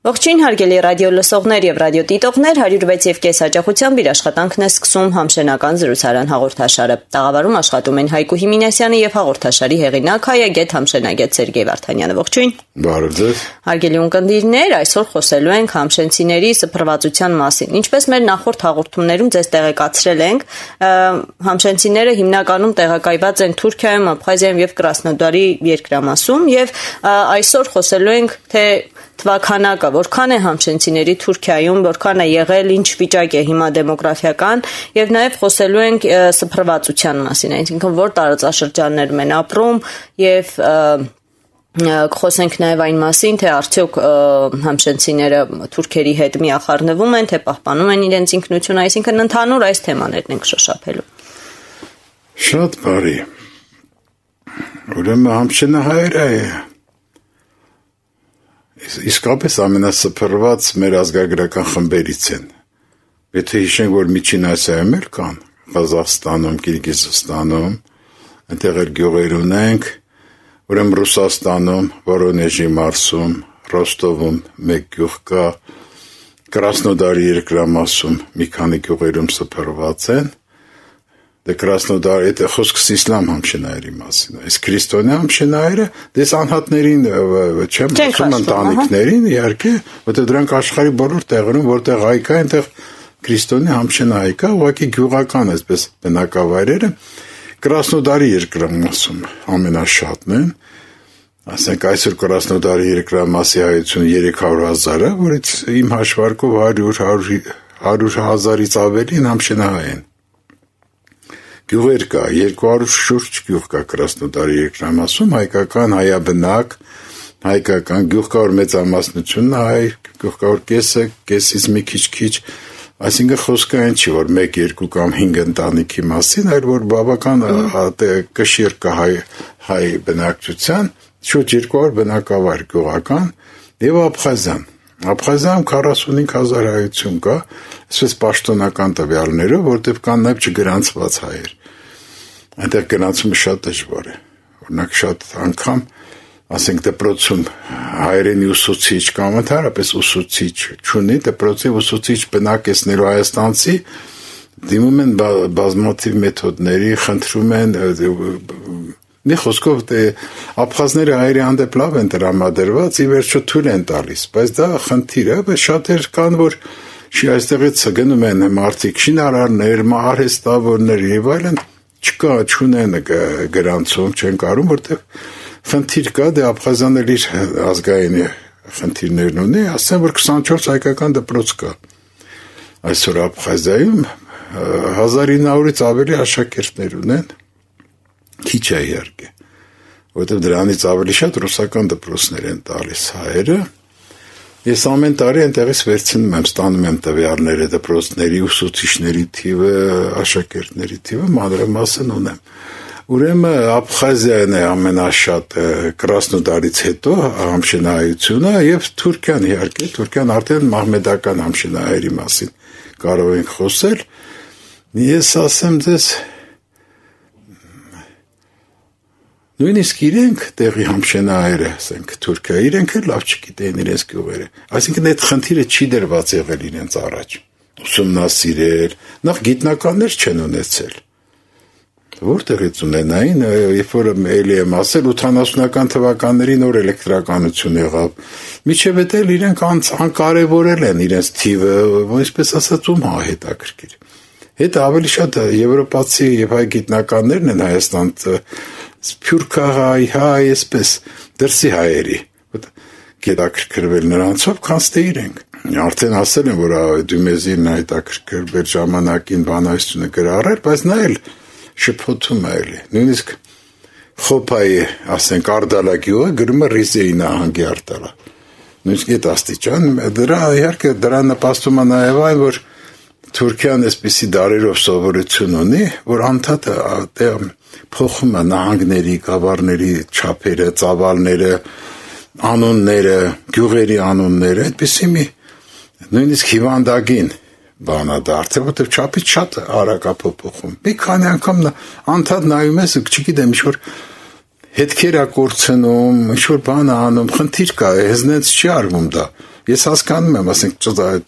Ողջույն հարգելի ռադիո լսողներ եւ ռադիո դիտողներ, 106.5 հաճախությամբ իր աշխատանքն է սկսում համշենական զրուցարան հաղորդաշարը։ Տաղավարում աշխատում են Հայկու Հիմինասյանը եւ հաղորդաշարի հեղինակ հայագետ համշենագետ Սերգեյ Վարդանյանը։ Ողջույն։ Բարև ձեզ։ Հարգելի ունկնդիրներ, այսօր խոսելու ենք համշենցիների սփռվածության մասին։ Ինչպես մեր նախորդ հաղորդումներում ձեզ տեղեկացրել ենք, համշենցիները հիմնականում տեղակայված են Թուրքիայում, Աբխազիայում եւ Կրասնոդարի երկրամասում եւ այսօր խոսելու ենք թե թվականակը որքան է համշենցիների Թուրքիայում, որքան է եղել, ինչ վիճակ է հիմա դեմոգրաֆիական եւ նաեւ խոսելու ենք սփռվածության մասին, այսինքն որ տարածաշրջաններում են ապրում եւ խոսենք նաեւ այն մասին, թե արդյոք համշենցիները թուրքերի հետ միախառնվում են, թե պահպանում են իրենց ինքնությունը, այսինքն ընդհանուր այս թեմաներն ենք շոշափելու։ Շատ բարի։ Ուրեմն համշենահայերը իսկապես ամենասփռված մեր ազգագրական խմբերից են։ Եթե հիշենք, որ Միջին Ասիայում էլ կան, Ղազախստանում, Կիրգիզստանում, այնտեղ էլ գյուղեր ունենք, ուրեմն Ռուսաստանում, Վորոնեժի մարզում, Ռոստովում մեկ գյուղ կա, Կրասնոդարի երկրամասում մի քանի գյուղերում սփռված են։ Դե Կրասնոդար, այդ խոսքս իսլամ համշենայերի մասին է։ Իսկ քրիստոնյա համշենայերը դες անհատներին չեմ ասում ընտանիքներին, իհարկե, որտեղ դրանք աշխարհի բոլոր տեղերում, որտեղ հայ կա, այնտեղ քրիստոնյա համշենայ կա, ուղղակի գյուղական այսպես բնակավայրերը Կրասնոդարի երկրամասում ամենաշատն են։ Ասենք այսօր Կրասնոդարի երկրամասի հայությունը 300,000-ը, որից իմ հաշվարկով 100,000-ից ավելին համշենահայ են։ Գյուղեր կա, 200 շուրջ գյուղ կա Կրասնոդարի երկրամասում, հայկական, հայաբնակ, հայկական, գյուղ կա որ մեծամասնությունն է հայ, գյուղ կա որ կեսից մի քիչ, այսինքն խոսքը այն չի, որ 1, 2 կամ 5 ընտանիքի մասին, այլ որ բավական կշիռ կա հայ բնակչության, շուտ 200 բնակավայր գյուղական եւ Աբխազիան։ Աբխազիայում 45,000 հայություն կա, այսպես պաշտոնական տվյալներով, որտեղ կան նաեւ չգրանցված հայեր։ Այնտեղ գրանցումը շատ դժվար է։ Օրինակ շատ անգամ, ասենք դպրոցում հայերենի ուսուցիչ կամ ընդհանրապես ուսուցիչ չունի, դպրոցի ուսուցիչ բնակեցնելու հայաստանցի դիմում են բազմաթիվ մեթոդների, խնդրում են մի խոսքով աբխազները հայերի հանդեպ լավ են տրամադրված, ի վերջո թույլ են տալիս, բայց դա խնդիր է, բայց շատեր կան, որ այստեղից գնում են մարդիկ շինարարներ, արհեստավորներ եւ այլն, չկա, չունեն գրանցում, չեն կարում, որտեղ խնդիր կա, դե Աբխազիան էլ իր ազգային խնդիրներն ունի, ասեմ, որ 24 հայկական դպրոց կա։ Այսօր Աբխազիայում 1900-ից ավելի աշակերտներ ունեն, քիչ է իհարկե, որտեղ դրանից ավելի շատ ռուսական դպրոցներ են տալիս հայերը։ Ես ամեն տարի այնտեղից վերցնում եմ, ստանում եմ տվյալները դպրոցների, ուսուցիչների թիվը, աշակերտների թիվը, մանրամասն ունեմ։ Ուրեմն Աբխազիան է ամենաշատ Կրասնոդարից հետո համշենահայությունը եւ Թուրքիան իհարկե, Թուրքիան արդեն մահմեդական համշենահայերի մասին կարող ենք խոսել։ Ես ասեմ ձեզ նույնիսկ իրենք տեղի համշենահայերը, ասենք Թուրքիա, իրենք էլ լավ չգիտեն իրենց գյուղերը։ Այսինքն այդ խնդիրը չի դրված եղել իրենց առաջ։ Ուսումնասիրել, նախ գիտնականներ չեն ունեցել։ Որտեղից ունենային, երբ որ էլի եմ ասել 80-ական թվականների նոր էլեկտրականություն եղավ, միջև էլ իրենք անկարևորել են իրենց թիվը, այսպես ասած ում հետաքրքիր։ Հետո ավելի շատ եվրոպացի եւ հայ գիտնականներն են Հայաստան սփյուռքահայ, հայ, այսպես դրսի հայերի, հետաքրքրվել նրանցով, քանց թե իրենք։ Արդեն ասել են, որ Դումեզին հետաքրքրվել ժամանակին բանահյուսությունը գրառել, բայց նա էլ շփոթում է էլի։ Նույնիսկ Խոփայի, ասենք, Արդալագյուղը գրում է Ռիզեի նահանգի արտալա։ Նույնիսկ այդ աստիճան, դրա իհարկե դրա նպաստում է նաև այն, որ Թուրքիան այսպիսի դարերով սովորություն ունի, որ անդադար փոխում է նահանգների, գավառների չափերը, ծավալները, անունները, գյուղերի անունները, այդպիսի մի նույնիսկ հիվանդագին բանա դարձել, որտեղ չափից շատ արագ է փոփոխում։ Մի քանի անգամ անդադ նայում ես, չգիտեմ, ինչ-որ հետքեր է կորցնում, ինչ-որ բան է անում, խնդիր կա, հեզնենց չի արվում դա։ Ես հասկանում եմ, ասենք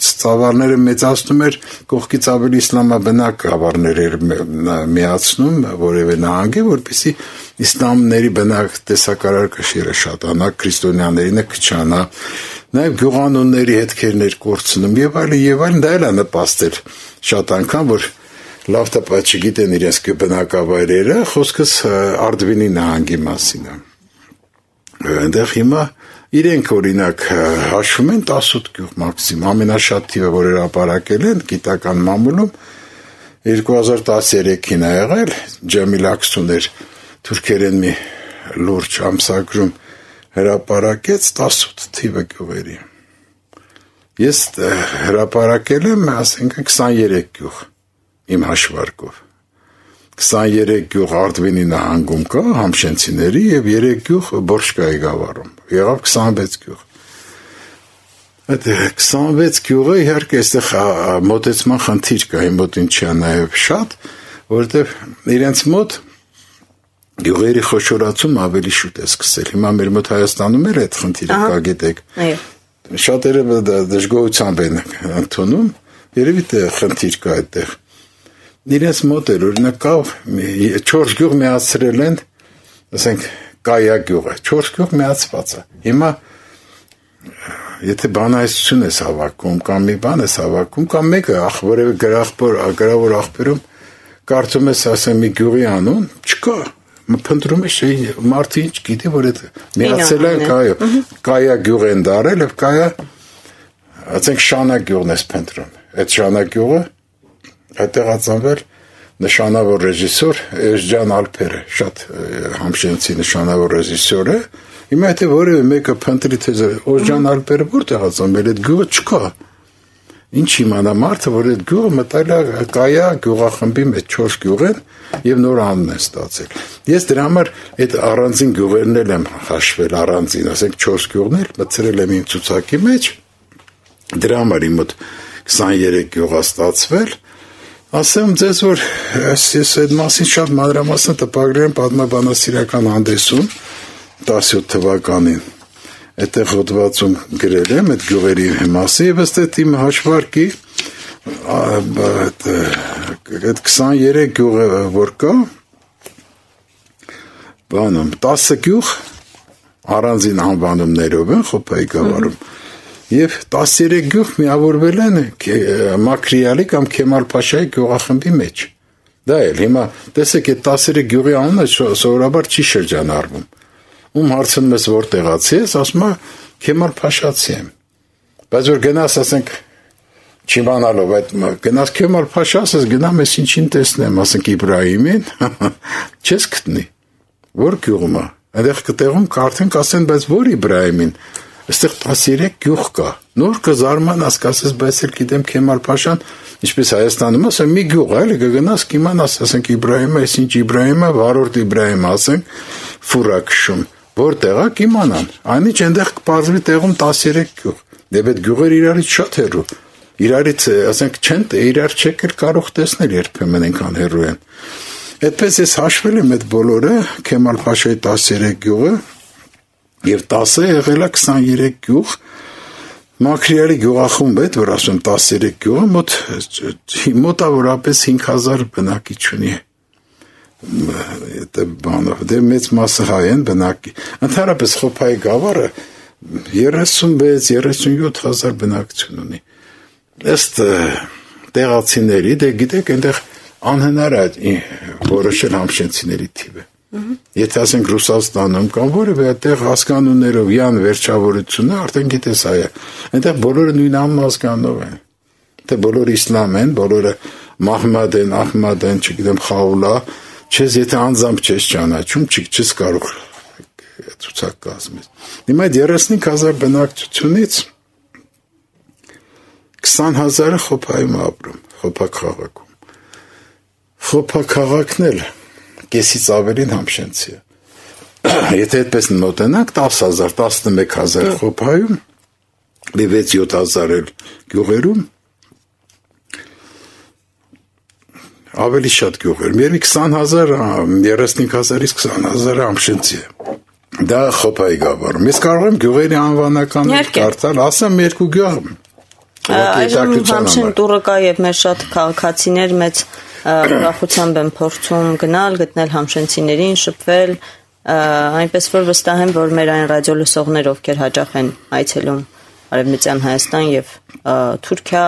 ծավալները մեծացնում էր, կողքից ավելի իսլամաբնակ գավառներ էր միացնում որևէ նահանգի, որպեսզի իսլամների բնակ տեսակարար կշիռը շատանա, քրիստոնյաներինը քչանա, նաև գյուղանունների հետքերներ կորցնում եւ այլն, դա էլ է նպաստել շատ անգամ, որ լավ տպա չգիտեն իրենց բնակավայրերը, խոսքս Արդվինի նահանգի մասին է։ Այնտեղ հիմա իրենք օրինակ հաշվում են 18 գյուղ մաքսիմում, ամենաշատ թիվը, որ հրապարակել են գիտական մամուլում 2013-ին է եղել, Ջամիլ Աքսուներ թուրքերեն մի լուրջ ամսագրում հրապարակեց 18 թիվը գյուղերի։ Ես հրապարակել եմ, ասենք 23 գյուղ իմ հաշվարկով։ 23 գյուղ Արդվինի նահանգում կա համշենցիների եւ 3 գյուղ Բորշկայի գավառում։ Եղավ 26 գյուղ։ Այդ 26 գյուղը իհարկե այստեղ մոտեցման խնդիր կա, իմ մոտ ինչի է նաեւ շատ, որովհետեւ իրենց մոտ գյուղերի խոշորացում ավելի շուտ է սկսել։ Հիմա մեր մոտ Հայաստանում էլ այդ խնդիրը կա, գիտեք։ Շատերը դժգոհությամբ են ընդունում, երևի թե խնդիր կա այդտեղ։ Իրենց մոտ էր, օրինակ կա 4 գյուղ միացրել են, ասենք Կայա գյուղը, 4 գյուղ միացված է։ Հիմա եթե բանայություն ես հավաքում, կամ մի բան ես հավաքում, կամ մեկը որևէ գրավոր աղբյուրում կարծում ես, ասեմ, մի գյուղի անուն, չկա։ Փնտրում ես, մարդը ինչ գիտի, որ այդ միացել են Կայա գյուղ են դարել, եւ Կայա, ասենք Շանա գյուղն ես փնտրում։ Այդ Շանա գյուղը այդտեղ ածանվել նշանավոր ռեժիսոր Էժջան Ալփերը, շատ համշենցի նշանավոր ռեժիսոր է։ Հիմա եթե որևէ մեկը փնտրի թե Էժջան Ալփերը որտեղ ածանվել, այդ գյուղը չկա։ Ինչ իմանա մարդը, որ այդ գյուղը մտել է Կայա գյուղախմբի մեջ 4 գյուղ են եւ նոր անուն են ստացել։ Ես դրա համար այդ առանձին գյուղերն էլ եմ հաշվել առանձին, ասենք 4 գյուղն էլ մտցրել եմ իմ ցուցակի մեջ։ Դրա համար իմ մոտ 23 գյուղ է ստացվել։ Ասեմ ձեզ, որ ես այդ մասին շատ մանրամասն տպագրել եմ պատմաբանասիրական հանդեսում 17 թվականին։ Այդտեղ հոդվածում գրել եմ այդ գյուղերի մասին եւ ըստ իմ հաշվարկի այդ 23 գյուղը որ կա, բանում 10 գյուղ առանձին անվանումներով են Խոփայի գավառում։ Եվ 13 գյուղ միավորվել են Մաքրիալի կամ Քեմալ Փաշայի գյուղախմբի մեջ։ Դա էլ հիմա տեսեք այդ 13 գյուղի անունը սովորաբար չի շրջանառվում։ Ում հարցնում ես որտեղացի ես, ասում է Քեմալ Փաշացի եմ։ Բայց որ գնաս, ասենք, չիմանալով այդ գնաս Քեմալ Փաշա, ասես գնամ ես ինչին տեսնեմ, ասենք Իբրահիմին, չես գտնի։ Որ գյուղում է։ Այնտեղ կտեղում կարդեն կասեն, բայց որ Իբրահիմին։ Այստեղ 13 գյուղ կա։ Նոր կզարմանաս, կասես, բայց էլ գիտեմ Քեմալ Փաշան, ինչպես Հայաստանում ասեմ, մի գյուղ է, էլի կգնաս կիմանաս, ասենք Իբրահիմը, այս ինչ Իբրահիմը, վառորդ Իբրահիմը, ասենք, ֆուրա քշում։ Որտեղ է կիմանան։ Այնինչ այնտեղ կպարզվի տեղում 13 գյուղ։ Եվ այդ գյուղերը իրարից շատ հեռու։ Իրարից, ասենք, չեն իրար չեք էլ կարող տեսնել երբեմն այնքան հեռու են։ Այդպես ես հաշվել եմ այդ բոլորը, Քեմալ Փաշայի 13 գյուղը եւ 10-ը եղել է 23 գյուղ։ Մաքրիալի գյուղախումբ է, որ ասում 13 գյուղը մոտավորապես 5000 բնակիչ ունի։ Դե մեծ մասը հայ են բնակի։ Ընդհանրապես Խոփայի գավառը 36-37 հազար բնակություն ունի։ Ըստ տեղացիների, դե գիտեք, այնտեղ անհնար է որոշել համշենցիների թիվը։ Եթե ասենք Ռուսաստանում կամ որևէ այդտեղ հասկանուններով յան վերջավորությունը արդեն գիտես այ այնտեղ բոլորը նույն անմազգանով են։ Թե բոլորը իսլամ են, բոլորը Մահմադ են, Ահմադ են, չգիտեմ Խաուլա, չես եթե անձամբ չես ճանաչում, չես կարող ցուցակ կազմել։ Հիմա այդ 35000 բնակչությունից 20000-ը Խոփայում ապրում, Խոփա քաղաքում։ Խոփա քաղաքն էլ կեսից ավելին համշենցի է։ Եթե այդպես մոտենանք 10000, 11000 Խոփայում, 6-7000 էլ գյուղերում, ավելի շատ գյուղեր։ Մի 20000, 35000-ից 20000-ը համշենցի է։ Դա խոփայի գավառում։ Ես կարող եմ գյուղերի անվանականներ կարդալ, ասեմ երկու գյուղ։ Այժմ Համշեն տուրը կա եւ մեր շատ քաղաքացիներ մեծ ուրախությամբ են փորձում գնալ, գտնել համշենցիներին, շփվել, այնպես որ վստահ եմ, որ մեր այն ռադիո լսողներ, ովքեր հաճախ են այցելում Արևմտյան Հայաստան եւ Թուրքիա,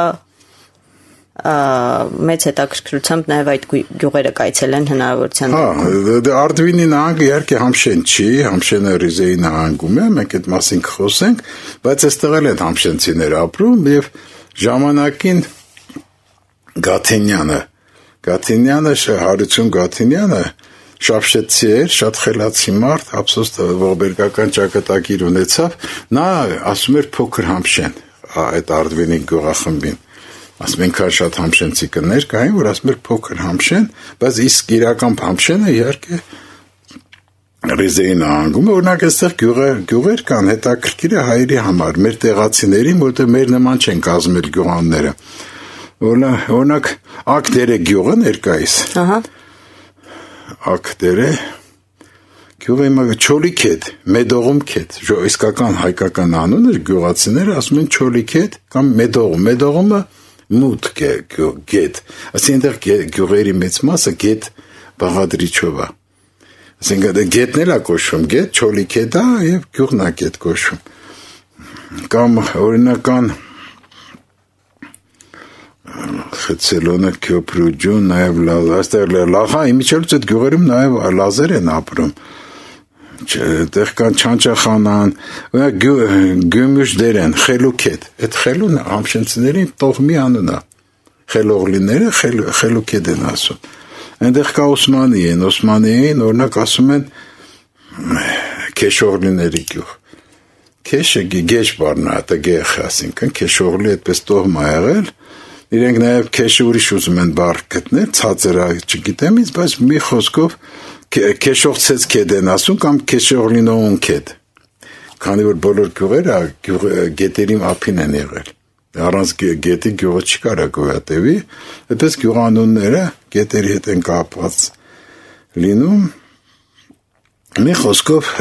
մեծ հետաքրքրությամբ նաև այդ գյուղերը կայցելեն հնարավորության դեպքում։ Արդվինի նահանգը իհարկե Համշեն չի, Համշենը Ռիզեի նահանգում է, մենք այդ մասին կխոսենք, բայց այստեղ էլ են համշենցիներ ապրում եւ ժամանակին Գաթինյանը Հարություն Գաթինյանը շապշեցի էր, շատ խելացի մարդ, ափսոս ողբերգական ճակատագիր ունեցավ, նա ասում էր փոքր Համշեն, այդ Արդվինի գյուղախմբին ասում են շատ համշենցի կներ կային, որ ասում էր փոքր Համշեն, բայց իսկ իրական Համշենը իհարկե Ռիզեի նահանգում է, օրինակ այստեղ գյուղեր կան, հետաքրքիր է հայերի համար, մեր տեղացիներին, որտեղ մեր նման չեն կազմել գյուղանները։ Օրինակ Ակդերը գյուղը ներկայիս։ Ակդերը գյուղը Չոլիքետ, Մեդողում քետ, իսկական հայկական անունը գյուղացիները ասում են Չոլիքետ կամ Մեդողումը մութ գետ, ասինքն գյուղերի մեծ մասը գետ բաղադրիչով է, ասինքն գետն էլ է կոչվում գետ, Չոլիքետ է և գյուղն է գետ կոչվում, կամ օրինական Խեցելոնը Քյոփրուջուն, նաև այստեղ Լախա, իմիջիայլոց այդ գյուղերում նաև լազեր են ապրում, տեղ կան Չանչախանան, Գյումյուշ դերեն, Խելուքետ, այդ խելուն համշենցիներին տողմի անուն է, խելողլիները Խելուքետ են ասում, այնտեղ կա Օսմանիային, օրինակ ասում են Քեշողլիների գյուղ, Քեշը գեջ բառն է, դա գեխ ասինքն, Քեշողլի այդպես տողմ է եղել, իրենք նաև քեշը ուրիշ ուզում են բառ գտնել, ցածր է, չգիտեմ ինձ, բայց մի խոսքով Քեշողցեց քեդ են ասում կամ Քեշողլինոուն քեդ, քանի որ բոլոր գյուղերը գետերի ափին են եղել, առանց գետի գյուղը չկարա գոյատևի, այդպես գյուղանունները գետերի հետ են կապված լինում, մի խոսքով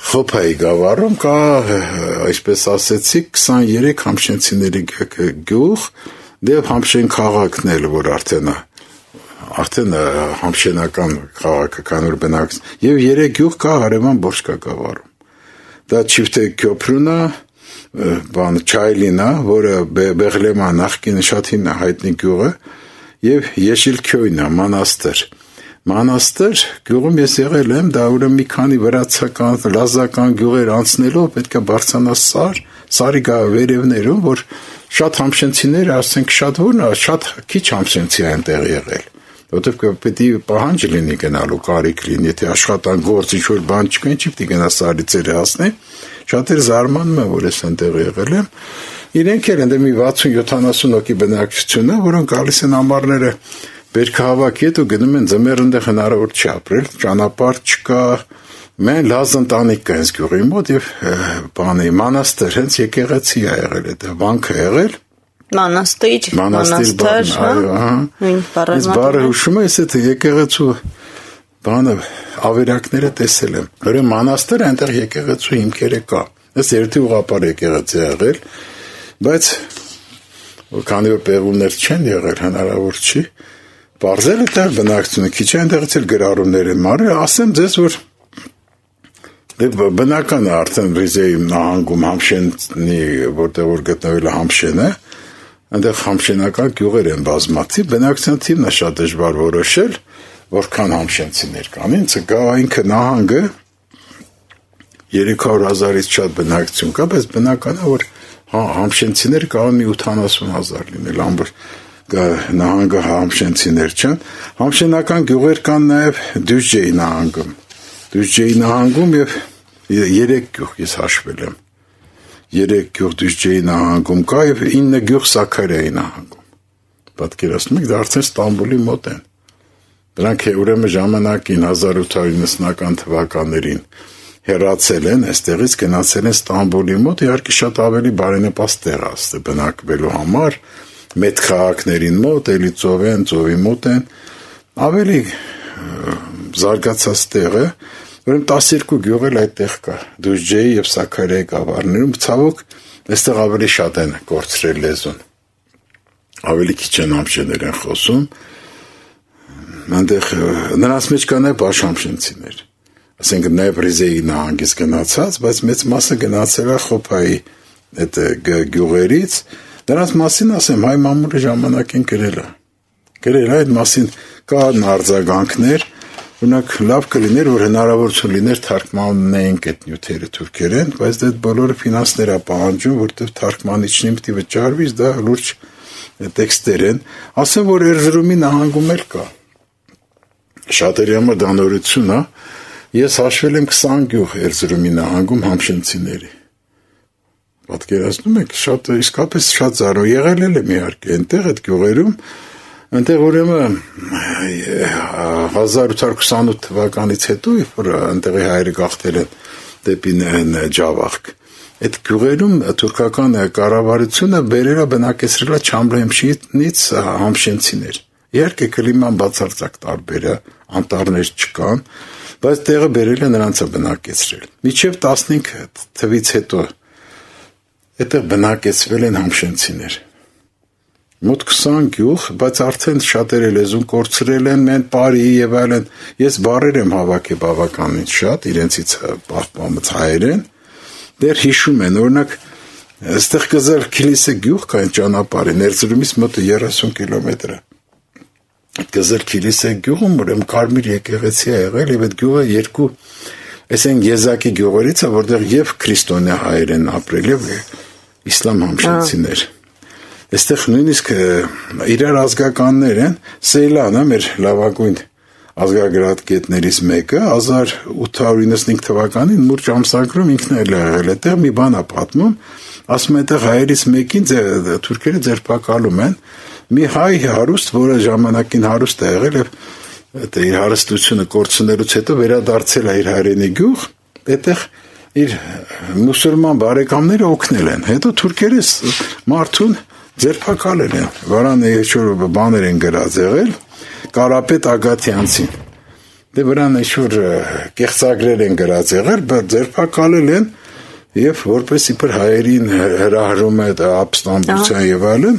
Խոփայի գավառում կա, այսպես ասեցի, 23 համշենցիների գյուղ, դեպ Համշեն քաղաքն էլ, որ արդեն համշենական քաղաքականոր բնակց, և 3 գյուղ կա Հարևան Բորշկա գավառում։ Դա Չիվտե Քյոփրունա, Չայլինա, որը Բեղլեմա նախկին շատ հայտնի գյուղը, և Եշիլ Քյոյնա, Մանաստր գյուղում ես եղել եմ, դա ուրեմն մի քանի վրացական, լազական գյուղեր անցնելով պետք է բարձրանաս սարի վերևներում, որ շատ համշենցիներ, ասենք շատ քիչ համշենցի այնտեղ եղել, որտեղ պետք է պահանջ լինի գնալու, կարիք լինի, եթե աշխատանք գործ ինչ-որ բան չկա, ինչի պետք է գնա սարի ծերը հասնի, շատեր զարմանում են, որ ես այնտեղ եղել եմ, իրենք էլ ընդե մի 60-70 հոգի բնակչություն է, որոնք գալիս են ամառները Բերքահավաքի հետ ու գնում են ձմեռ ընդեղ հնարավոր չի ապրել, ճանապարհ չկա, մեն լազ ընտանիք կա հենց գյուղի մոտ և մանաստր, հենց եկեղեցի է եղել, այդ վանքը եղել, Մանաստիր, այս բառը հուշում ես այդ եկեղեցու ավերակները տեսել եմ, ուրեմն մանաստր այնտեղ եկեղեցու հիմքերը կա, այս երդի ուղղապար եկեղեցի է եղել, բայց քանի որ պեղումներ չեն եղել, հնարավոր չի, Պարզել է տեղ բնակցությունը, քիչ այնտեղից էլ գրառումներ են մարել, ասեմ ձեզ, որ բնական է արդեն Ռիզեի նահանգում Համշենի, որտեղ որ գտնվել է Համշենը, այնտեղ համշենական գյուղեր են բազմաթիվ, բնակչության թիվն է շատ դժվար որոշել, որքան համշենցիներ կան, ինքը նահանգը 300,000-ից շատ բնակչություն կա, բայց բնական է, որ համշենցիներ կարող մի 80,000 լինել, ամբողջ նահանգը համշենցիներ չեն, համշենական գյուղեր կան նաև Դյուժջեի նահանգում և 3 գյուղ ես հաշվել եմ, 3 գյուղ Դյուժջեի նահանգում կա և 9 գյուղ Սաքարիայի նահանգում, պատկերացնում եք, դա արդեն Ստամբուլի մոտ են, դրանք ուրեմն ժամանակին 1890-ական թվականներին հեռացել են, այստեղից գնացել են Ստամբուլի մոտ, իհարկե շատ ավելի բարենպաստ տեղ է բնակվելու համար, մեծ քաղաքներին մոտ, էլի ծովի մոտ են, ավելի զարգացած տեղը, Ուրեմն 12 գյուղ էլ այդտեղ կա, Դուժջեի եւ Սաքարիայի գավառներում, ցավոք, այստեղ ավելի շատ են կորցրել լեզուն։ Ավելի քիչ են համշեներ են խոսում։ Այնտեղ նրանց մեջ կան այլ բաշամշենցիներ։ Ասենք նաև Ռիզեի նահանգից գնացած, բայց մեծ մասը գնացել է Խոփայի այդ գյուղերից։ Նրանց մասին ասեմ, հայ մամուլի ժամանակին գրել է այդ մասին կան արձագանքներ, օրինակ լավ կլիներ, որ հնարավորություն լիներ թարգմանեինք այդ նյութերը թուրքերեն, բայց դա բոլորը ֆինանսներ է պահանջում, որտեղ թարգմանիչին պետք է վճարվի, դա լուրջ տեքստեր են։ Ասեմ, որ Էրզրումի նահանգում էլ կա։ Շատերի համար դա նորություն է։ Ես հաշվել եմ 20 գյուղ Էրզրումի նահանգում համշենցիների։ Պատկերացնում եք, իսկապես շատ զարու եղել եմ իհարկե այնտեղ այդ գյուղերում, այնտեղ ուրեմն 1828 թվականից հետո, երբ որ այնտեղի հայերը գաղթել են դեպի Ջավախք, այդ գյուղերում թուրքական կառավարությունը բերել է բնակեցրել է Չամբլհեմշիրից համշենցիներ։ Իհարկե կլիման բացարձակ տարբեր է, անտառներ չկան, բայց տեղը բերել է նրանց է բնակեցրել։ Մինչև 15 թվից հետո այդտեղ բնակեցվել են համշենցիներ։ Մոտ 20 գյուղ, բայց արդեն շատերը լեզուն կորցրել են, մեն բարի եւ այլն։ Ես բառեր եմ հավաքել բավականին շատ, իրենցից պահպանված հայերեն։ Դեռ հիշում են, օրինակ, այստեղ կզել Քիլիսե գյուղ կա այն ճանապարհին, Էրզրումից մոտ 30 կիլոմետր է։ Գզել Քիլիսե գյուղում, ուրեմն Կարմիր եկեղեցի է եղել եւ այդ գյուղը երկու, այսինքն եզակի գյուղերից է, որտեղ եւ քրիստոնյա հայեր են ապրել եւ իսլամ համշենցիներ։ Այստեղ նույնիսկ իրար ազգականներ են, Սեյլանը մեր լավագույն ազգագրագետներից մեկը 1895 թվականին մուրճ ամսագրում ինքն էլ եղել է, այդտեղ մի բան է պատմում, ասում է այդտեղ հայերից մեկին թուրքերը ձերբակալում են, մի հայ հարուստ, որը ժամանակին հարուստ է եղել եւ իր հարստությունը կորցնելուց հետո վերադարձել է իր հայրենի գյուղ, այդտեղ իր մուսուլման բարեկամները օգնել են։ Հետո թուրքերը մարդուն ձերբակալել են, վրան ինչ-որ բաներ են գրած եղել, Կարապետ Ագաթյանցին։ Դե վրան ինչ-որ կեղծագրեր են գրած եղել, բայց ձերբակալել են եւ որպես իբր հայերին հրահրում է ապստամբության եւ այլն։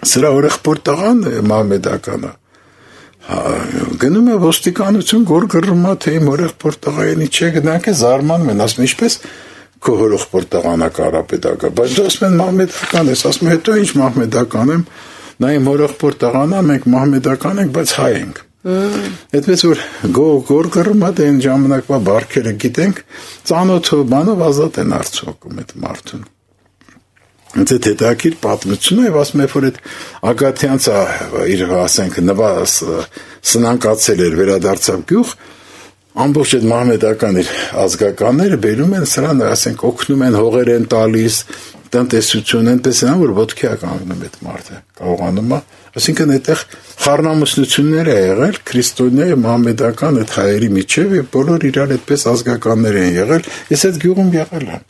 Սրա օրեղբոր տղան մահմեդականը գնում է ոստիկանություն գորգռում է թե իմ օրեղբոր տղային չէ գնանք է զարմանում են ասում ինչպես քո օրեղբոր տղան է Կարապետակը բայց դու ասում են մահմեդական ես ասում հետո ինչ մահմեդական եմ նա իմ օրեղբոր տղան է մենք մահմեդական ենք բայց հայ ենք այդպես որ գորգռում է դեն ժամանակվա բարքերը գիտենք ծանոթով բանով ազատ են արցողում այդ մարդուն Ինձ հետաքրքիր պատմությունը եւ ասում եմ որ այդ Ագաթյանցը իր ասենք նվազ սնանկացել էր վերադարձավ գյուղ ամբողջ այդ մահմեդական իր ազգականները բերում են սրան ասենք օգնում են հողեր են տալիս տնտեսություն այնպես են որ ոտքի է կանգնում այդ մարդը կարողանում է այսինքն այդտեղ խառնամուսնություններ է եղել քրիստոնյա եւ մահմեդական այդ հայերի միջեւ եւ բոլոր իրար այդպես ազգականներ են եղել ես այդ գյուղում եղել եմ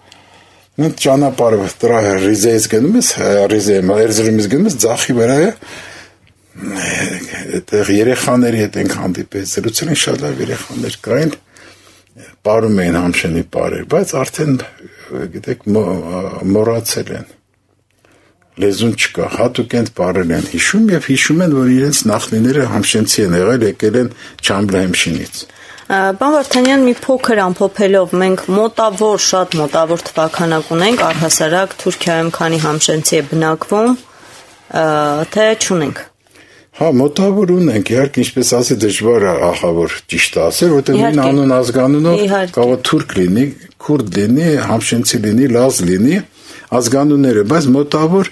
Մենք ճանապարհը դրա Ռիզեից գնում ես, Էրզրումից գնում ես, ձախի վրա է, այդտեղ երեխաների հետ ենք հանդիպել, զրուցել են շատ լավ երեխաներ կային, պարում էին համշենի պարեր, բայց արդեն, գիտեք, մոռացել են, լեզուն չկա, հատուկ են պարել են հիշում և հիշում են, որ իրենց նախնիները համշենցի են եղել, եկել են Չամբլհեմշիրից Պարոն Վարդանյան, մի փոքր ամփոփելով, մենք շատ մոտավոր թվականակ ունենք, առհասարակ Թուրքիայում քանի համշենցի է բնակվում, թե չունենք։ Հա, մոտավոր ունենք, իհարկե, ինչպես ասի, դժվար է ահավոր ճիշտ ասել, որտեղ նույն անուն ազգանունով կարող է թուրք լինի, քուրդ լինի, համշենցի լինի, լազ լինի, ազգանունները, բայց մոտավոր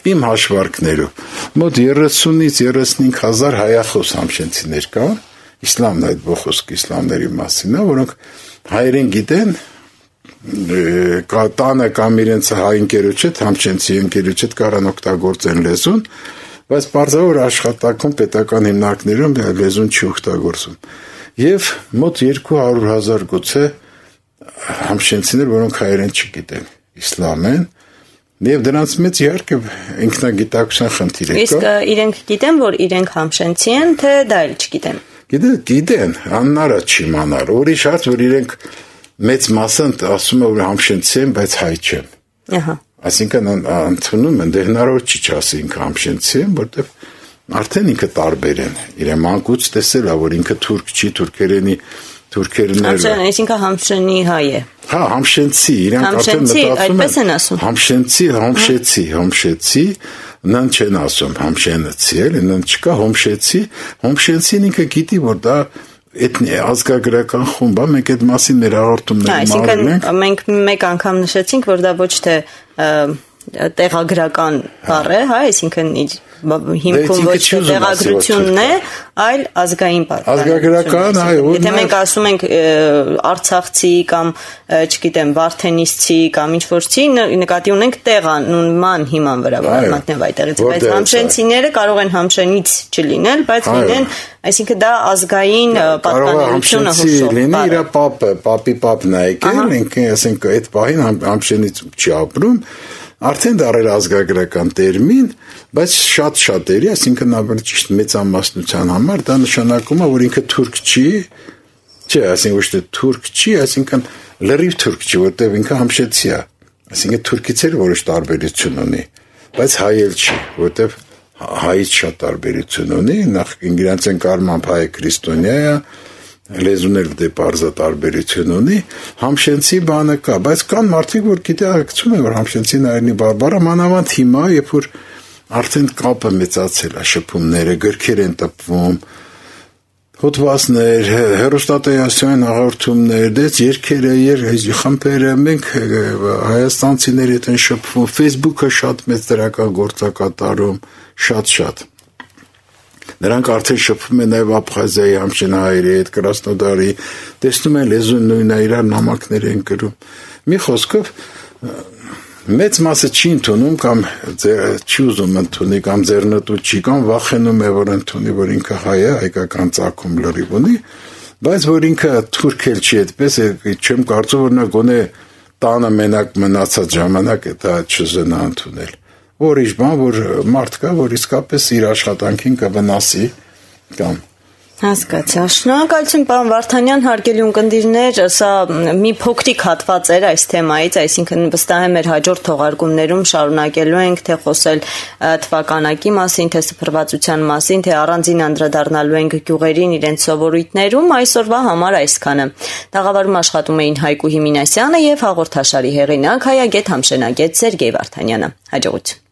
իմ հաշվարկներով, մոտ 30-ից 35 հազար հայախոս համշենցիներ կան, իսլամն այդ բոխոսք իսլամների մասին է, որոնք հայերեն գիտեն, տանը կամ իրենց հայ ընկերոջ հետ, համշենցի ընկերոջ հետ կարան օգտագործեն լեզուն, բայց պարզավոր աշխատանքում պետական հիմնարկներում լեզուն չի օգտագործում։ Եվ մոտ 200,000 գուցե համշենցիներ, որոնք հայերեն չգիտեն, իսլամ են, Եվ դրանց մեծ իհարկե ինքնագիտակցության խնդիր է կա։ Իսկ իրենք գիտեն, որ իրենք համշենցի են, թե դա էլ չգիտեն։ Գիտեն, աննարած չիմանալ։ Ուրիշ հարց, որ իրենք մեծ մասը ասում են, որ համշենցի են, բայց հայ չեն։ Ահա։ Այսինքն ընդունում են, դե հնարավոր չի ասի ինքը համշենցի են, որտեղ արդեն ինքը տարբեր են։ Իրեն մանկուց տեսել է, որ ինքը թուրք չի, թուրքերներ։ Այսինքն համշենի հայ է։ Հա, համշենցի, իրանք արդեն մտածում են։ Համշեցի, նան չեն ասում, համշենցի էլ, նան չկա Հոմշեցին ինքը գիտի, որ դա ազգագրական խումբ է, մենք այդ մասին մեր հաղորդումները մարում ենք։ Այսինքն մենք մեկ անգամ նշեցինք, որ դա ոչ թե տեղագրական բառ է, հա, այսինքն հիմքում ոչ թե տեղագրությունն է, այլ ազգային բառ։ Ազգագրական, այո։ Եթե մենք ասում ենք արցախցի կամ, չգիտեմ, վարդենիսցի կամ ինչ-որցի, նկատի ունենք տեղանունման հիման վրա մատնև այդտեղից, բայց համշենցիները կարող են համշենից չլինել, բայց լինեն, այսինքն դա ազգային պատկանելությունը հուշող լինի, իր պապի պապն է եկել, ինքը ասենք այդ պահին համշենից չի ապրում, արդեն դարել ազգագրական տերմին, բայց շատ-շատերի, այսինքն ավելի ճիշտ մեծամասնության համար դա նշանակում է, որ ինքը թուրք չի, այսինքն ոչ թե թուրք չի, այսինքն լրիվ թուրք չի, որտեղ ինքը համշեցի է, այսինքն թուրքից էլ որոշ տարբերություն ունի, բայց հայ էլ չի, որտեղ հայից շատ տարբերություն ունի, նախ իրանց են կարմամբ հայ քրիստոնյա է, լեզուն էլ դե պարզա տարբերություն ունի, համշենցի բանը կա, բայց կան մարդիկ, որ գիտակցում են, որ համշենցի նայրնի բարբառը մանավանդ հիմա, երբ որ արդեն կապը մեծացել է, շփումները, գրքեր են տպվում, հոդվածներ, հեռուստատեսային հաղորդումներ, դες երգերը, խմբերը, մենք հայաստանցիների հետ են շփվում, Facebook-ը շատ մեծ դրական գործ է կատարում, շատ։ Նրանք արդեն շփվում են նաև Աբխազիայի համշենահայերի հետ, Կրասնոդարի, տեսնում են լեզուն նույնն է, իրար նամակներ են գրում։ Մի խոսքով մեծ մասը չի ընդունում կամ չի ուզում ընդունի կամ ձեռնտու չի կամ վախենում է, որ ընդունի, որ ինքը հայ է, հայկական ծագում լրիվ ունի, բայց որ ինքը թուրք էլ չի այդպես, չեմ կարծում, որ նա գոնե տանը մենակ մնացած ժամանակ դա չզնա ընդունել։ Որիշ բան, որ մարդ կա, որ իսկապես իր աշխատանքին կվնասի կամ Հասկացա։ Շնորհակալություն, պարոն Վարդանյան, հարգելի ունկնդիրներ, սա մի փոքրիկ հատված էր այս թեմայից, այսինքն վստահ եմ մեր հաջորդ թողարկումներում շարունակելու ենք թե խոսել թվականակի մասին, թե սփռվածության մասին, թե առանձին անդրադառնալու ենք գյուղերին, իրենց սովորույթներում, այսօրվա համար այսքանը։ Տաղավարում աշխատում էին Հայկուհի Մինասյանը եւ հաղորդաշարի հեղինակ հայագետ համշենագետ Սերգեյ Վարդանյանը։ Հաջողություն։